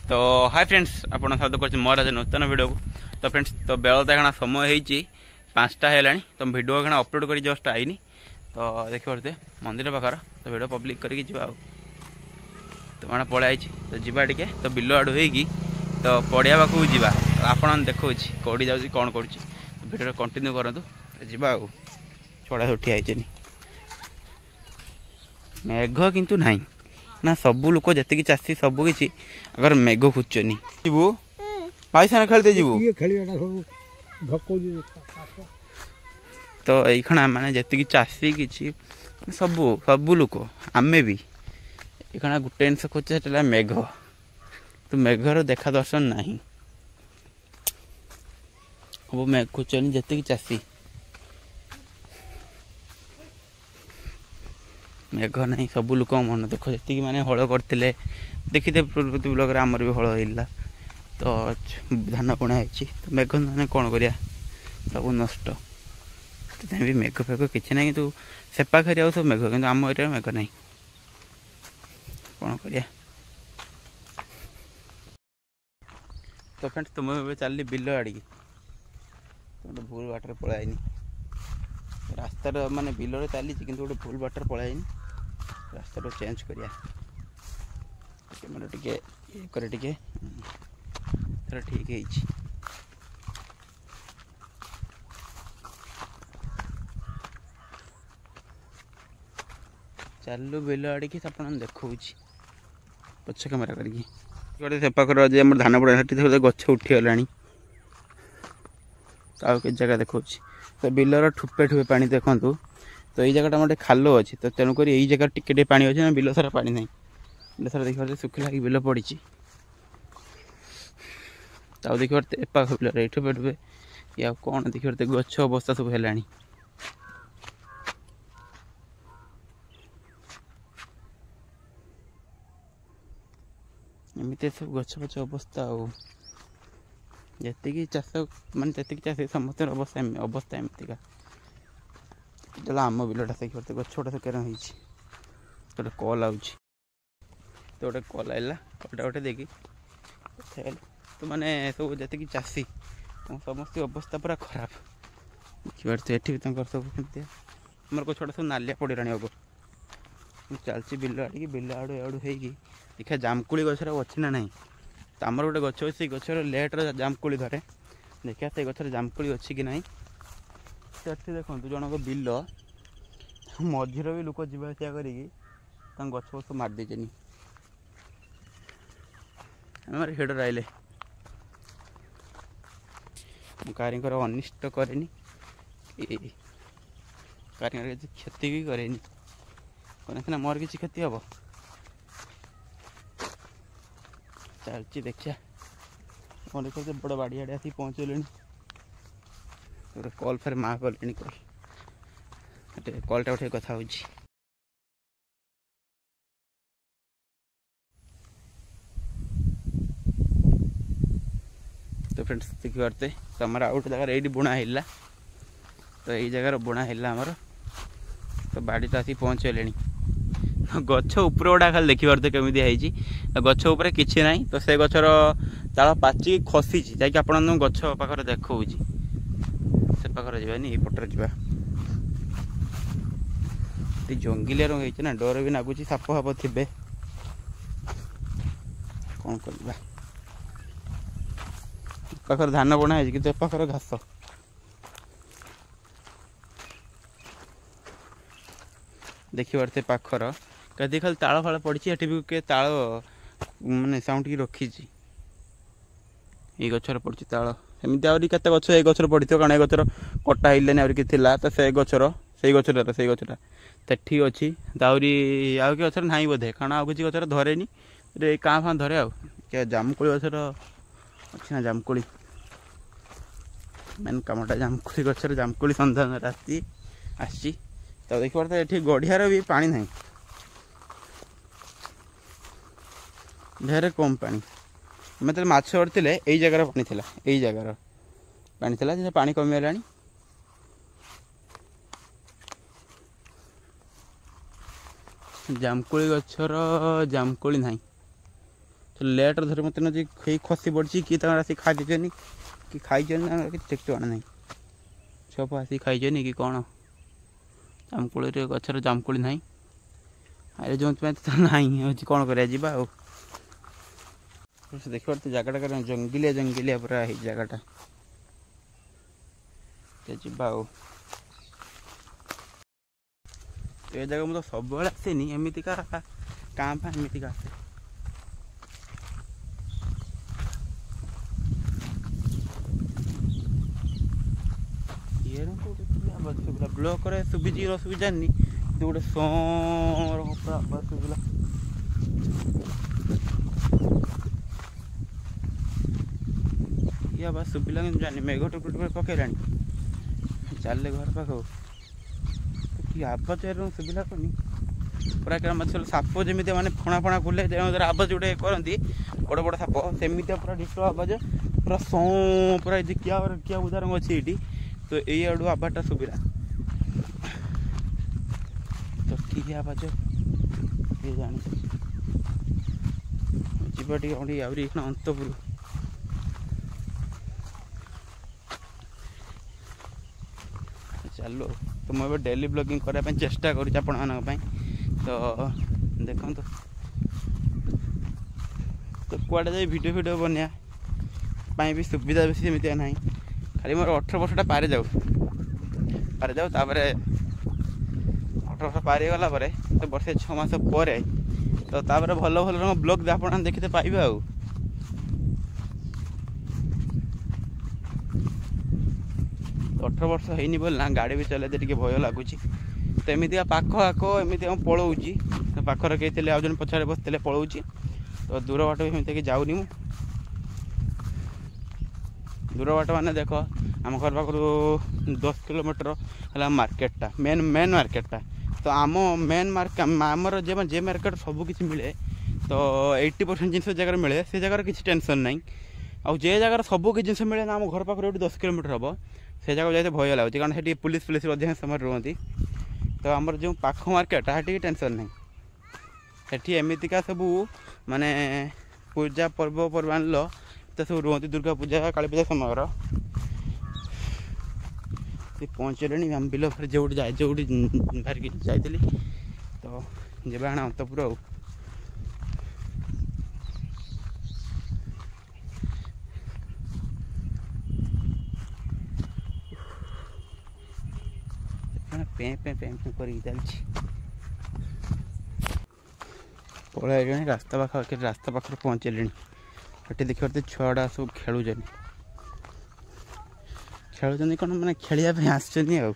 ତ high friends, ଆପଣ ସ୍ୱାଗତ କରୁଛି ମୋର ଆଜି ନୂତନ ଭିଡ଼ିଓକୁ। ତ ଫ୍ରେଣ୍ଡସ୍, ତ ବେଳ ତ ଏଖଣା ସମୟ ହେଇଛି 5ଟା ହେଲାଣି। ତ ଭିଡ଼ିଓ ଏଖଣା ଅପଲୋଡ଼ କରି ଜଷ୍ଟ ଆଇନି। ତ ଦେଖିପାରୁଥିବେ ମନ୍ଦିର ପାଖର, ତ ଭିଡ଼ିଓ ପବ୍ଲିକ୍ କରିକି ଯିବା। ଆଉ ତ ମାନେ ପଳେଇ ଆଇଛି, ତ ଯିବା ଟିକେ ତ ବିଲ ଆଡ଼ୁ ହେଇକି ତ ପଡ଼ିଆ ପାଖକୁ ଯିବା। ଆପଣ ଦେଖାଉଛି କେଉଁଠି ଯାଉଛି କ'ଣ କରୁଛି, ଭିଡ଼ିଓ କଣ୍ଟିନ୍ୟୁ କରନ୍ତୁ। ଯିବା ଆଉ ଛଡ଼ା ସବୁ ଠିଆ ହେଇଛନ୍ତି। ମେଘ କିନ୍ତୁ ନାହିଁ ନା, ସବୁ ଲୋକ ଯେତିକି ଚାଷୀ ସବୁ କିଛି ଆଗର ମେଘ ଖୋଜୁଛନ୍ତି। ଯିବୁ ଭାଇ ସାଙ୍ଗେ ଖେଳିତେ ଯିବୁ ତ ଏଇଖଣା ମାନେ ଯେତିକି ଚାଷୀ କିଛି ସବୁ ସବୁ ଲୋକ ଆମେ ବି ଏଇଖଣା ଗୋଟେ ଜିନିଷ ଖୋଜୁଛେ, ସେଟା ହେଲା ମେଘ। ତ ମେଘର ଦେଖା ଦର୍ଶନ ନାହିଁ, ସବୁ ମେଘ ଖୋଜୁଛନ୍ତି ଯେତିକି ଚାଷୀ। ମେଘ ନାହିଁ, ସବୁ ଲୋକଙ୍କ ମନ ଦୁଃଖ। ଯେତିକି ମାନେ ହଳ କରିଥିଲେ ଦେଖିଥିବେ ପୂର୍ବବର୍ତ୍ତୀ ବ୍ଲକରେ, ଆମର ବି ହଳ ହେଇଥିଲା, ତ ଧାନ ବୁଣା ହେଇଛି। ତ ମେଘ ମାନେ କ'ଣ କରିବା, ସବୁ ନଷ୍ଟ। ସେଥିପାଇଁ ବି ମେଘ ଫେଘ କିଛି ନାହିଁ, କିନ୍ତୁ ସେପାଖରେ ଆଉ ସବୁ ମେଘ, କିନ୍ତୁ ଆମ ଏରିଆରେ ମେଘ ନାହିଁ, କ'ଣ କରିବା। ତ ଫ୍ରେଣ୍ଡସ୍, ତୁମେ ଏବେ ଚାଲିଲି ବିଲ ଆଡ଼ିକି। ଗୋଟେ ଭୁଲ ବାଟରେ ପଳାଇନି, ରାସ୍ତାର ମାନେ ବିଲରେ ଚାଲିଛି କିନ୍ତୁ ଗୋଟେ ଭୁଲ ବାଟରେ ପଳାଇନି। ରାସ୍ତାଟା ଚେଞ୍ଜ କରିବା, କ୍ୟାମେରା ଟିକେ ଇଏ କରେ ଟିକେ, ଏଥର ଠିକ୍ ହେଇଛି। ଚାଲୁ ବିଲ ଆଡ଼ିକି, ଆପଣ ଦେଖାଉଛି ପଛ କ୍ୟାମେରା କରିକି। ଗୋଟେ ସେପାଖରେ ଅଛି ଆମର ଧାନ ପଡ଼ା, ସେଠି ଗଛ ଉଠିଗଲାଣି। ଆଉ କିଛି ଜାଗା ଦେଖାଉଛି। ତ ବିଲର ଠୁପେ ଠୁପେ ପାଣି ଦେଖନ୍ତୁ। ତ ଏଇ ଜାଗାଟା ଆମର ଟିକେ ଖାଲ ଅଛି, ତ ତେଣୁକରି ଏଇ ଜାଗାରେ ଟିକେ ଟିକେ ପାଣି ଅଛି ନା, ବିଲ ସାରା ପାଣି ନାହିଁ। ବିଲ ସାରା ଦେଖିପାରୁଥିବେ ଶୁଖିଲା ହେଇକି ବିଲ ପଡ଼ିଛି। ତ ଆଉ ଦେଖିପାରୁଥିବେ ଏପାଖ ବିଲରେ ଏଇ ଠୁପେ ଠୁପେ ଇଏ ଆଉ କ'ଣ ଦେଖିପାରୁଥିବେ ଗଛ ଅବସ୍ଥା ସବୁ ହେଲାଣି। ଏମିତି ସବୁ ଗଛ ଫଛ ଅବସ୍ଥା। ଆଉ ଯେତିକି ଚାଷ ମାନେ ଯେତିକି ଚାଷୀ ସମସ୍ତଙ୍କର ଅବସ୍ଥା ଅବସ୍ଥା ଏମିତିକା। ଚାଲ ଆମ ବିଲଟା ଦେଖିପାରୁଥିବେ ଗଛ ଗୁଡ଼ା ସବୁ ହେଇଛି। ଗୋଟେ କଲ୍ ଆଉଛି, ତ ଗୋଟେ କଲ୍ ଆଇଲା, କଲ୍ଟା ଗୋଟେ ଦେଇକି କଥା ହେଲି। ତ ମାନେ ସବୁ ଯେତିକି ଚାଷୀ ସମସ୍ତ ଅବସ୍ଥା ପୁରା ଖରାପ ଦେଖିପାରୁଥିବେ। ଏଠି ବି ତାଙ୍କର ସବୁ କେମିତି ଆମର ଗଛ ଗୁଡ଼ା ସବୁ ନାଲିଆ ପଡ଼ିଲାଣି। ହବ ମୁଁ ଚାଲିଛି ବିଲ ଆଡ଼ିକି, ବିଲ ଆଡ଼ୁ ଆଡ଼ୁ ହେଇକି ଦେଖିବା ଜାମୁକୋଳି ଗଛରେ ଅଛି ନା ନାହିଁ। ତ ଆମର ଗୋଟେ ଗଛ ଅଛି, ସେଇ ଗଛରେ ଲେଟ୍ରେ ଜାମୁକୋଳି ଧରେ। ଦେଖିବା ସେଇ ଗଛରେ ଜାମୁକୋଳି ଅଛି କି ନାହିଁ। ସେଠି ଦେଖନ୍ତୁ ଜଣଙ୍କ ବିଲ ମଝିରେ ବି ଲୋକ ଯିବା ଆସିବା କରିକି ତାଙ୍କ ଗଛ ଫଛ ମାରି ଦେଇଛନ୍ତି। ଆମର ହେଡ଼ରେ ଆଇଲେ ମୁଁ କାହାରିଙ୍କର ଅନିଷ୍ଟ କରେନି କି କାହାରିଙ୍କର କିଛି କ୍ଷତି ବି କରେନି, କରେ ସିନା ମୋର କିଛି କ୍ଷତି ହେବ। ଚାଲିଛି ଦେଖିବା କ'ଣ ଦେଖୁଛି। ବଡ଼ ବାଡ଼ି ଆଡ଼େ ଆସିକି ପହଞ୍ଚିଗଲେଣି। ଗୋଟେ କଲ୍ ଫେର ମା କଲେଣି, କଲ୍ କଲ୍ଟା ଉଠେଇ କଥା ହେଉଛି। ତ ଫ୍ରେଣ୍ଡସ୍ ଦେଖିପାରୁଥିବେ, ତ ଆମର ଆଉ ଗୋଟେ ଜାଗାରେ ଏଇଠି ବୁଣା ହେଲା, ତ ଏଇ ଜାଗାରେ ବୁଣା ହେଲା ଆମର। ତ ବାଡ଼ିଟା ଆସିକି ପହଞ୍ଚିଗଲେଣି। ଗଛ ଉପରେ ଗୁଡ଼ା ଖାଲି ଦେଖିପାରୁଥିବେ କେମିତି ହେଇଛି। ଗଛ ଉପରେ କିଛି ନାହିଁ, ତ ସେ ଗଛର ତାଳ ପାଚିକି ଖସିଛି। ଯାଇକି ଆପଣଙ୍କୁ ଗଛ ପାଖରେ ଦେଖାଉଛି। ସେ ପାଖରେ ଯିବାନି, ଏଇ ପଟରେ ଯିବା। ଜଙ୍ଗଲିଆ ରଙ୍ଗ ହେଇଛି ନା, ଡର ବି ଲାଗୁଛି, ସାପ ଫାପ ଥିବେ, କ'ଣ କରିବା। ପାଖରେ ଧାନ ବୁଣା ହେଇଛି କିନ୍ତୁ ଏ ପାଖରେ ଘାସ। ଦେଖିପାରୁଥିବେ ପାଖର କେତେ ଖାଲି ତାଳ ଫାଳ ପଡ଼ିଛି। ଏଠି ବି କିଏ ତାଳ ମାନେ ସାଉଣ୍ଡ ରଖିଛି। ଏଇ ଗଛରେ ପଡ଼ିଛି ତାଳ। ଏମିତି ଆହୁରି କେତେ ଗଛ ଏଇ ଗଛରେ ପଡ଼ିଥିବ, କାରଣ ଏ ଗଛର କଟା ହେଇଲାନି, ଆହୁରି କିଛି ଥିଲା। ତ ସେ ଗଛର ସେଇ ଗଛଟା ସେଇ ଗଛଟା ସେଠି ଅଛି। ତ ଆହୁରି ଆଉ କି ଗଛରେ ନାହିଁ ବୋଧେ, କାରଣ ଆଉ କିଛି ଗଛରେ ଧରେନି, ଏ କାଁ ଫାଁ ଧରେ। ଆଉ ଜାମୁକୋଳି ଗଛର ଅଛି ନା, ଜାମୁକୋଳି ମେନ୍ କାମଟା ଜାମୁକୋଳି ଗଛରେ ଜାମୁକୋଳି ସନ୍ଧାନରେ ଆସି ଆସିଛି। ତ ଦେଖିପାରୁଥିବେ ଏଠି ଗଢ଼ିଆର ବି ପାଣି ନାହିଁ, ଢେର କମ୍ ପାଣି। ଆମେ ଯେତେବେଳେ ମାଛ ଧରିଥିଲେ ଏଇ ଜାଗାରେ ପାଣି ଥିଲା, ଏଇ ଜାଗାର ପାଣି ଥିଲା, ସେ ପାଣି କମିଗଲାଣି। ଜାମୁକୋଳି ଗଛର ଜାମୁକୋଳି ନାହିଁ, ତ ଲେଟ୍ରେ ଧରି ମୋତେ ନ ହେଇ ଖସି ପଡ଼ିଛି କି ତାଙ୍କର ଆସିକି ଖାଇ ଦେଇଛନ୍ତି କି ଖାଇଛନ୍ତି, ତାଙ୍କର କିଛି ଠିକ୍ ଠିକଣା ନାହିଁ। ଛୁଆ ଆସିକି ଖାଇଛନ୍ତି କି କ'ଣ। ଜାମୁକୋଳିରେ ଗଛରେ ଜାମୁକୋଳି ନାହିଁ, ଆରେ ଯେଉଁଥିପାଇଁ ତ ନାହିଁ ହେଉଛି, କ'ଣ କରିବା ଯିବା। ଆଉ ଦେଖିପାରୁଥିବେ ଜାଗାଟା କାରଣ ଜଙ୍ଗଲିଆ ଜଙ୍ଗଲିଆ ପୁରା ହେଇଛି ଜାଗାଟା। ଯିବା ଆଉ ଏ ଜାଗା ମୁଁ ତ ସବୁବେଳେ ଆସେନି, ଏମିତିକା କାଁ ଫାଁ ଏମିତିକା ଆସେ। ଶୁଭିଲା ବ୍ଲକରେ ଶୁଭିଛି କି ନ ଶୁଭିଛି ଜାଣିନି, କିନ୍ତୁ ଗୋଟେ ସଁ ପୁରା ଆବାଜ ଶୁଭିଲା। ଇଏ ଆବାଜ ଶୁଭିଲା କିନ୍ତୁ ଜାଣିନି। ମେଘ ଟୁପୁ ଟୁପୁ ପକେଇଲାଣି, ଚାଲିଲେ ଘର ପାଖକୁ। କି ଆବାଜ ଶୁଭିଲା କନି ପୁରା କେମିତି ସାପ ଯେମିତି ମାନେ ଫଣା ଫଣା ଖୋଲେ ଆବାଜ ଗୋଟେ କରନ୍ତି ବଡ଼ ବଡ଼ ସାପ, ସେମିତିଆ ପୁରା ଡିଟୋ ଆବାଜ, ପୁରା ସଁ ପୁରା। ଏ କିଆ କିଆ ଉଦାହରଣ ଅଛି ଏଇଠି, ତ ଏଇ ଆଡ଼ୁ ଆବାଜଟା ଶୁଭିଲା। ତ କି ଆବାଜ କିଏ ଜାଣିଛି। ଯିବା ଟିକେ ଆହୁରି ଏଇଖିଣା ଅନ୍ତପୁର ଚାଲୁ। ତ ମୁଁ ଏବେ ଡେଲି ବ୍ଲଗିଂ କରିବା ପାଇଁ ଚେଷ୍ଟା କରୁଛି ଆପଣମାନଙ୍କ ପାଇଁ, ତ ଦେଖନ୍ତୁ। ତ କୁଆଡ଼େ ଯାଇ ଭିଡ଼ିଓ ଫିଡ଼ିଓ ବନେଇବା ପାଇଁ ବି ସୁବିଧା ବେଶୀ ସେମିତିଆ ନାହିଁ। ଖାଲି ମୋର 18 ବର୍ଷଟା ପାରି ଯାଉ, ପାରିଯାଉ, ତାପରେ 18 ବର୍ଷ ପାରିଗଲା ପରେ ତ ବର୍ଷେ 6 ମାସ ପରେ ତ ତାପରେ ଭଲ ଭଲ ରକମ ବ୍ଲଗ୍ ଆପଣ ଦେଖିତେ ପାଇବେ। ଆଉ 18 ବର୍ଷ ହେଇନି ବୋଲି ନା ଗାଡ଼ି ବି ଚଲେଇତେ ଟିକେ ଭୟ ଲାଗୁଛି। ତ ଏମିତିକା ପାଖ ଆଖ ଏମିତି ମୁଁ ପଳଉଛି, ତ ପାଖରେ କେହି ଥିଲେ ଆଉ ଜଣେ ପଛରେ ବସିଥିଲେ ପଳଉଛି। ତ ଦୂର ବାଟ ବି ସେମିତି ଯାଉନି ମୁଁ। ଦୂର ବାଟ ମାନେ ଦେଖ, ଆମ ଘର ପାଖରୁ 10 କିଲୋମିଟର ହେଲା ମାର୍କେଟଟା, ମେନ୍ ମେନ୍ ମାର୍କେଟଟା। ତ ଆମ ମେନ୍ ମାର୍କେଟ, ଆମର ଯେ ଯେ ମାର୍କେଟ ସବୁ କିଛି ମିଳେ, ତ 80% ଜିନିଷ ଜାଗାରେ ମିଳେ, ସେ ଜାଗାରେ କିଛି ଟେନସନ୍ ନାହିଁ। ଆଉ ଯେ ଜାଗାରେ ସବୁ କିଛି ଜିନିଷ ମିଳେ ନା, ଆମ ଘର ପାଖରୁ ଏଇଠି 10 କିଲୋମିଟର ହେବ, ସେ ଜାଗାକୁ ଯାଇତେ ଭୟ ଲାଗୁଛି, କାରଣ ସେଠି ପୁଲିସ ଫୁଲିସ ଅଧିକାଂଶ ସମୟରେ ରୁହନ୍ତି। ତ ଆମର ଯେଉଁ ପାଖ ମାର୍କେଟଟା ସେଠି ଟେନସନ୍ ନାହିଁ। ସେଠି ଏମିତିକା ସବୁ ମାନେ ପୂଜା ପର୍ବପର୍ବାଣିର ତ ସବୁ ରୁହନ୍ତି, ଦୁର୍ଗା ପୂଜା କାଳୀ ପୂଜା ସମୟର। ସେ ପହଞ୍ଚିଲେଣି ଆମ ବିଲ ଫେରେ ଯେଉଁଠି ଯାଇ ଯେଉଁଠି ବାହାରିକି ଯାଇଥିଲି। ତ ଯିବା ଆଣ ଅନ୍ତପୁର। ଆଉ ପେଁ ପେଁ ପେଁ ପେଁ କରିକି ଚାଲିଛି। ପଳେଇ ରାସ୍ତା ପାଖାପାଖି, ରାସ୍ତା ପାଖରେ ପହଞ୍ଚିଲେଣି। ଏଠି ଦେଖିପାରୁଥିବେ ଛୁଆଗୁଡ଼ା ସବୁ ଖେଳୁଛନ୍ତି। ଖେଳୁଛନ୍ତି କ'ଣ, ମାନେ ଖେଳିବା ପାଇଁ ଆସିଛନ୍ତି। ଆଉ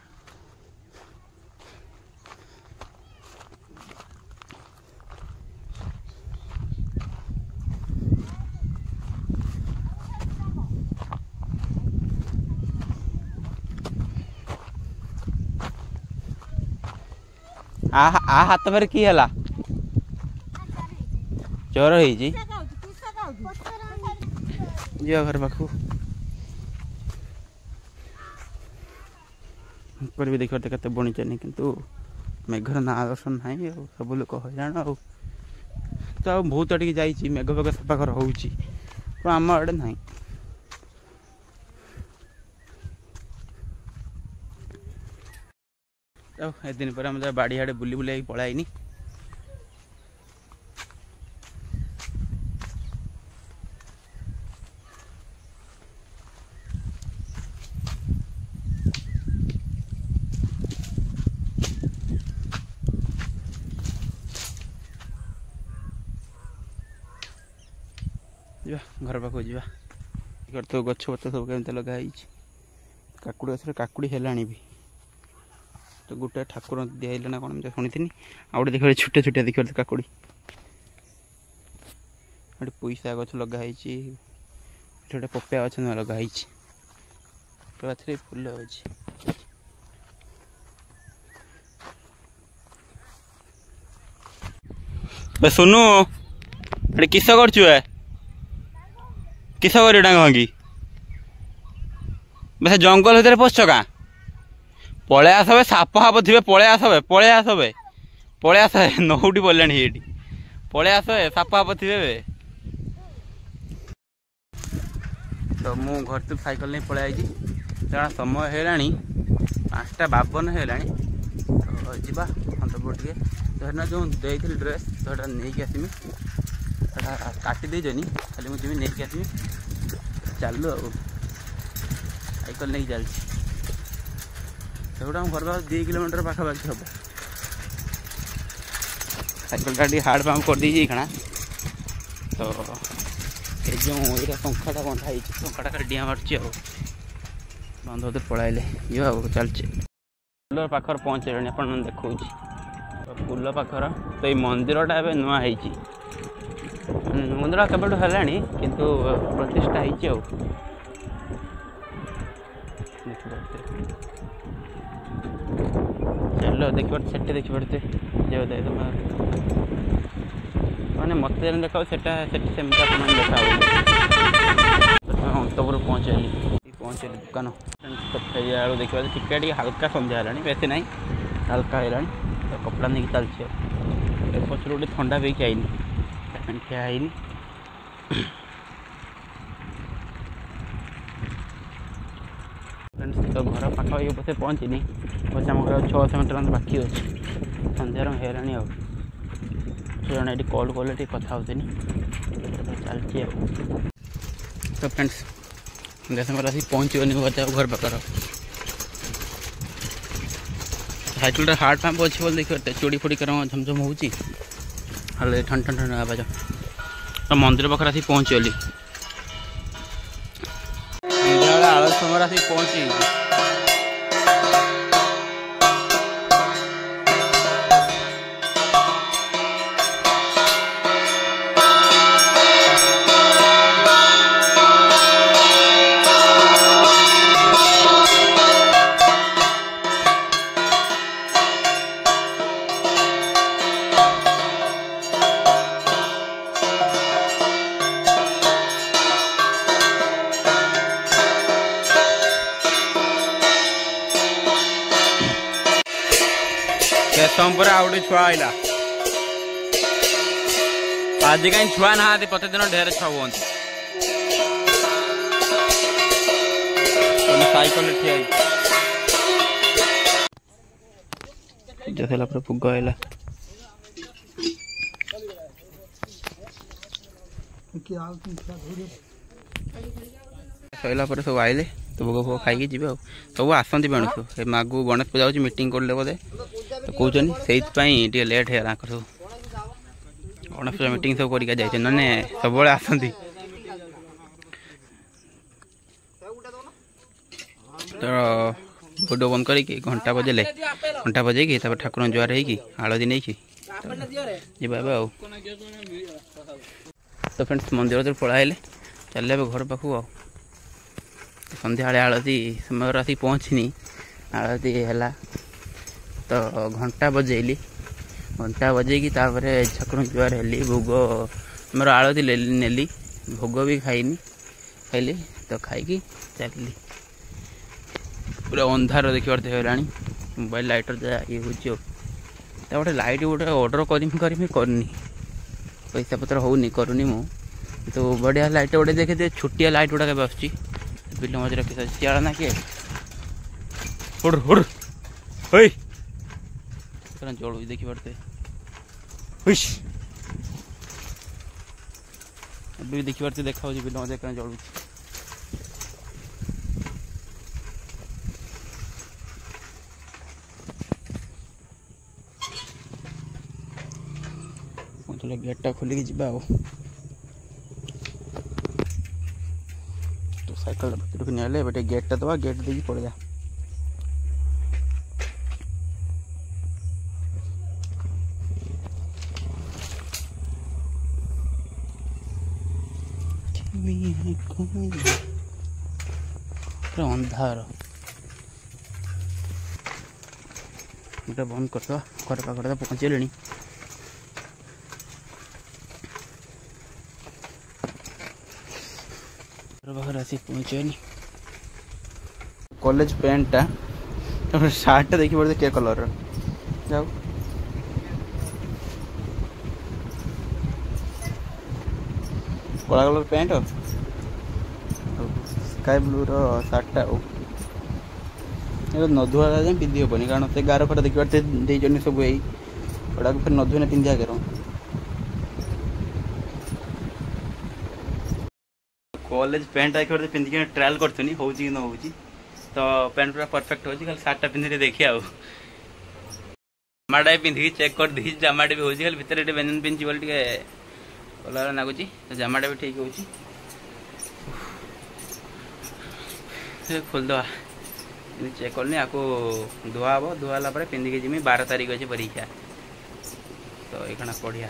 ଆ ହାତ ଫେରେ କି ହେଲା, ଜ୍ୱର ହେଇଛି। ଯିବା ଘର ପାଖକୁ ଉପରେ ବି ଦେଖିପାରୁଥିବେ କେତେ ବୁଣିଛନ୍ତି, କିନ୍ତୁ ମେଘର ନାଁ ଦର୍ଶନ ନାହିଁ। ଆଉ ସବୁ ଲୋକ ହଇରାଣ। ଆଉ ତ ଆଉ ବହୁତ ଟିକେ ଯାଇଛି, ମେଘ ଫେଘ ସଫାକର ହେଉଛି, ତ ଆମ ଆଡ଼େ ନାହିଁ। ଆଉ ଏଦିନ ପରେ ଆମେ ବାଡ଼ି ଆଡ଼େ ବୁଲି ବୁଲାଇକି ପଳାଇନି। ଯିବା ଘର ପାଖକୁ ଯିବା। ତ ଗଛ ପତ୍ର ସବୁ କେମିତି ଲଗା ହେଇଛି, କାକୁଡ଼ି ଗଛରେ କାକୁଡ଼ି ହେଲାଣି ବି। ତ ଗୋଟେ ଠାକୁର ଦିଆହେଇଲା ନା କ'ଣ ମୁଁ ଶୁଣିଥିନି। ଆଉ ଗୋଟେ ଦେଖିବ ଛୋଟିଆ ଛୋଟିଆ ଦେଖିବ କାକୁଡ଼ି। ଗୋଟେ ପୋଇସା ଗଛ ଲଗା ହେଇଛି, ଏଠି ଗୋଟେ ପପିଆ ଗଛ ନୂଆ ଲଗା ହେଇଛି, ଗଛରେ ଫୁଲ ଅଛି। ସୁନୁ, ଏଠି କିସ କରୁଛୁ ଏ? କିସ କରିବୁ ଡାଙ୍ଗ ଭାଙ୍ଗି ସେ ଜଙ୍ଗଲ ଭିତରେ ପଶୁଛ କାଁ? ପଳେଇ ଆସ ବେ, ସାପ ଫାପ ଥିବେ, ପଳେଇ ଆସ ବେ, ପଳେଇ ଆସ ବେ, ପଳେଇ ଆସ। ନଉଟି ପଡ଼ିଲାଣି ଏଇଠି, ପଳେଇ ଆସ, ସାପ ଫାପ ଥିବେ ବେ। ମୁଁ ଘରଠୁ ସାଇକେଲ ନେଇ ପଳେଇ ଆଇଛି। କାରଣ ସମୟ ହେଇଗଲାଣି 5:52 ହେଇଗଲାଣି। ତ ଯିବା ଅନ୍ତପୁର ଟିକେ। ତ ସେଦିନ ଯେଉଁ ଦେଇଥିଲି ଡ୍ରେସ୍, ତ ସେଟା ନେଇକି ଆସିମି। ସେଟା କାଟି ଦେଇଛନି, ଖାଲି ମୁଁ ଯିବି ନେଇକି ଆସିମି। ଚାଲୁ ଆଉ ସାଇକେଲ ନେଇକି ଚାଲିଛି। ସେଗୁଡ଼ା ଆମ ଘର ପାଖ 2 କିଲୋମିଟର ପାଖାପାଖି ହେବ। ସାଇକେଲଟା ଟିକେ ହାର୍ଡ଼ ପାମ୍ପ କରିଦେଇଛି ଏଇଖିଣା। ତ ଏ ଯେଉଁ ଏଇଟା ପଙ୍ଖାଟା ବନ୍ଧା ହେଇଛି, ପଙ୍ଖାଟା ଖାଲି ଡିଆଁ ମାରୁଛି ଆଉ। ବନ୍ଧ ପଳାଇଲେ ଯିବା ଆଉ ଚାଲିଛି। ଫୁଲ ପାଖରେ ପହଞ୍ଚିଲେଣି, ଆପଣମାନେ ଦେଖାଉଛି ଫୁଲ ପାଖର। ତ ଏଇ ମନ୍ଦିରଟା ଏବେ ନୂଆ ହେଇଛି, ମନ୍ଦିର କେବେଠୁ ହେଲାଣି କିନ୍ତୁ ପ୍ରତିଷ୍ଠା ହେଇଛି ଆଉ। ଚାଲ ଦେଖିପାରୁଛି, ସେଠି ଦେଖିପାରୁଥିବେ। ମାନେ ମୋତେ ଯେମିତି ଦେଖାଉ ସେଟା ସେଠି ସେମିତି ଆପଣମାନେ ଦେଖାହବ। ଅନ୍ତପୁର ପହଞ୍ଚିଗଲି, ପହଞ୍ଚିଗଲି ଦୋକାନ। ତ ଫେରିଲା ବେଳକୁ ଦେଖିବା ଟିକେ ଟିକେ ହାଲକା ସନ୍ଧ୍ୟା ହେଲାଣି, ବେଶୀ ନାହିଁ, ହାଲକା ହେଲାଣି। ତ କପଡ଼ା ନେଇକି ଚାଲିଛି ଆଉ। ଏ ପଛରୁ ଗୋଟେ ଥଣ୍ଡା ପିଇକି ଆଇନି, ଖିଆ ହେଇନି। ଫ୍ରେଣ୍ଡସ୍, ତ ଘର ପାଖାପାଖି ପଛେ ପହଞ୍ଚିନି, ପଛେ ଆମ ଘର 600 ମିଟର ବାକି ଅଛି। ସନ୍ଧ୍ୟାର ହେଇଗଲାଣି ଆଉ। ସେ ଜଣେ ଏଠି କଲ୍ କଲେ ଟିକେ କଥା ହେଉଥିଲି, ଚାଲିଛି ଆଉ। ତ ଫ୍ରେଣ୍ଡସ୍, ସନ୍ଧ୍ୟା ସମୟରେ ଆସିକି ପହଞ୍ଚିବନି ବୋଧେ ଆଉ ଘର ପାଖର। ସାଇକେଲଟା ହାର୍ଡ଼ ପାମ୍ପ ଅଛି ବୋଲି ଦେଖିପାରୁଥିବେ, ଚୁଡ଼ି ଫୁଡ଼ି କର ଝମଝମ ହେଉଛି, ହେଲେ ଠନ୍ ଠନ୍ ଠନ୍ ଆବାଜ। ତ ମନ୍ଦିର ପାଖରେ ଆସିକି ପହଞ୍ଚିଗଲି। ସନ୍ଧ୍ୟାବେଳେ ଆଳତି ସମୟରେ ଆସିକି ପହଞ୍ଚି। ସମୟ ପରେ ଆଉ ଗୋଟେ ଛୁଆ ଆଇଲା। ଆଜି କାହିଁ ଛୁଆ ନାହାନ୍ତି, ପ୍ରତିଦିନ ଢେର ଛୁଆ ହୁଅନ୍ତି। ସାଇକେଲରେ ଠିଆ ହେଇଛି। ପୂଜା ସରିଲା ପରେ ଭୋଗ ଆଇଲା। ସରିଲା ପରେ ସବୁ ଆଇଲେ, ତ ଭୋଗ ଫୋଗ ଖାଇକି ଯିବେ ଆଉ। ସବୁ ଆସନ୍ତି ବେଣୁସୁ, ଏ ମାଗୁ ଗଣେଶ ପୂଜା ହେଉଛି, ମିଟିଂ କରିଲେ ବୋଧେ ତ କହୁଛନ୍ତି, ସେଇଥିପାଇଁ ଟିକେ ଲେଟ୍ ହେଇଗଲା। ତାଙ୍କର ସବୁ ଗଣେଶ ପୂଜା ମିଟିଂ ସବୁ କରିକି ଯାଇଛନ୍ତି, ନହେଲେ ସବୁବେଳେ ଆସନ୍ତି। ତ ଭିଡ଼ିଓ ବନ୍ଦ କରିକି ଘଣ୍ଟା ବଜେଇଲେ, ଘଣ୍ଟା ବଜେଇକି ତାପରେ ଠାକୁରଙ୍କ ଜୁହାର ହେଇକି ଆଳତି ନେଇକି ଯିବା ଏବେ ଆଉ। ତ ଫ୍ରେଣ୍ଡସ୍, ମନ୍ଦିର ଭିତରୁ ପଳାଇଲେ, ଚାଲିଲେ ଏବେ ଘର ପାଖକୁ ଆଉ। ସନ୍ଧ୍ୟାବେଳେ ଆଳତି ସମୟରେ ଆସିକି ପହଞ୍ଚିନି, ଆଳତି ହେଲା ତ ଘଣ୍ଟା ବଜେଇଲି। ଘଣ୍ଟା ବଜେଇକି ତାପରେ ଠାକୁରଙ୍କ ଜୁହାର ହେଲି, ଭୋଗ ଆମର ଆଳତି ନେଲି, ଭୋଗ ବି ଖାଇନି, ଖାଇଲି ତ ଖାଇକି ଚାଲିଲି। ପୁରା ଅନ୍ଧାର ଦେଖିପାରୁଥିବେ ହେଲାଣି, ମୋବାଇଲ ଲାଇଟର ଯାହା ଇଏ ହେଉଛି ଆଉ। ତା ଗୋଟେ ଲାଇଟ୍ ଗୋଟେ ଅର୍ଡ଼ର କରିମି କରିମି କରିନି, ପଇସା ପତ୍ର ହେଉନି, କରୁନି ମୁଁ। କିନ୍ତୁ ବଢ଼ିଆ ଲାଇଟ୍ ଗୋଟେ ଦେଖିଥିବେ, ଛୋଟିଆ ଲାଇଟ୍ ଗୁଡ଼ାକ ଏବେ ଆସୁଛି। ବିଲ ମଝିରେ କିସ ଶିଆଳ ନା କିଏ, ହୁଡ୍ ହୁଡ୍ ହୋଇ ଜଳୁଛି ଦେଖିପାରୁଥିବେ। ଏବେ ବି ଦେଖିପାରୁଥିବେ, ଦେଖାଯାଉଛି ବିଲ ମଝିରେ କେମିତି ଜଳୁଛି। ଗେଟ୍ଟା ଖୋଲିକି ଯିବା ଆଉ। ତ ସାଇକେଲଟା ଭିତରକୁ ନେଲେ ଏବେ ଟିକେ ଗେଟ୍ଟା ଦେବା, ଗେଟ୍ ଦେଇକି ପଳେଇବା। ପୁରା ଅନ୍ଧାର, ଗୋଟେ ବନ୍ଦ କରିଦେବା। ଘର ପାଖରେ ତ ପହଞ୍ଚିଗଲେଣି। ଘର ପାଖରେ ଆସିକି ପହଞ୍ଚିଗଲି। କଲେଜ ପ୍ୟାଣ୍ଟଟା, ତାପରେ ସାର୍ଟଟା ଦେଖିପାରୁଥିବେ କେ କଲର୍ର। ଯାଉ କଳା କଲର୍ ପ୍ୟାଣ୍ଟ ଆଉ ସ୍କାଏ ବ୍ଲୁର ସାର୍ଟଟା। ଆଉ ଏଇଟା ନ ଧୁଆ ଯାଏଁ ପିନ୍ଧି ହେବନି, କାରଣ ସେ ଗାର ଫାର ଦେଖିପାରୁଥିବେ ଦେଇଛନ୍ତି ସବୁ। ଏଇ ଏଗୁଡ଼ାକୁ ଫେର ନ ଧୁଇନେ ପିନ୍ଧିବା କେର। କଲେଜ ପ୍ୟାଣ୍ଟ ଦେଖିପାରୁଥିବେ, ପିନ୍ଧିକି ଟ୍ରାଏଲ୍ କରୁଥିନି ହେଉଛି କି ନ ହେଉଛି। ତ ପ୍ୟାଣ୍ଟ ପୁରା ପରଫେକ୍ଟ ହେଉଛି, ଖାଲି ସାର୍ଟଟା ପିନ୍ଧିଲେ ଦେଖିବା। ଆଉ ଜାମାଟା ବି ପିନ୍ଧିକି ଚେକ୍ କରିଦେଇଛି, ଜାମାଟା ବି ହେଉଛି। ଖାଲି ଭିତରେ ଟିକେ ବ୍ୟଞ୍ଜନ ପିନ୍ଧିଛି ବୋଲି ଟିକେ ଅଲଗା ଲାଗୁଛି। ତ ଜାମାଟା ବି ଠିକ୍ ହେଉଛି। ଖୋଲିଦେବା, ଚେକ୍ କଲିନି। ଆକୁ ଧୁଆ ହେବ, ଧୁଆ ହେଲା ପରେ ପିନ୍ଧିକି ଯିମି। 12 ତାରିଖ ଅଛି ପରୀକ୍ଷା, ତ ଏଇଖଣା ପଢ଼ିଆ।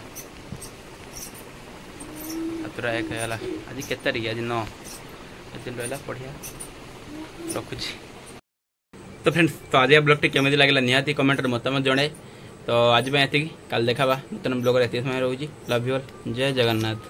7ଟା 1 ହେଇଗଲା। ଆଜି କେତେ ତାରିଖ? ଆଜି 9। ଏତେ ଦିନ ରହିଲା ପଢ଼ିଆ। ରଖୁଛି ତ ଫ୍ରେଣ୍ଡସ୍। ତ ଆଜିକା ବ୍ଲଗ୍ଟି କେମିତି ଲାଗିଲା ନିହାତି କମେଣ୍ଟରେ ମତାମତ ଜଣାଏ। ତ ଆଜି ପାଇଁ ଏତିକି, କାଲି ଦେଖାବା ନୂତନ ବ୍ଲଗ୍ରେ। ଏତିକି ସମୟ ରହୁଛି। Love you all, Jay Jagannath.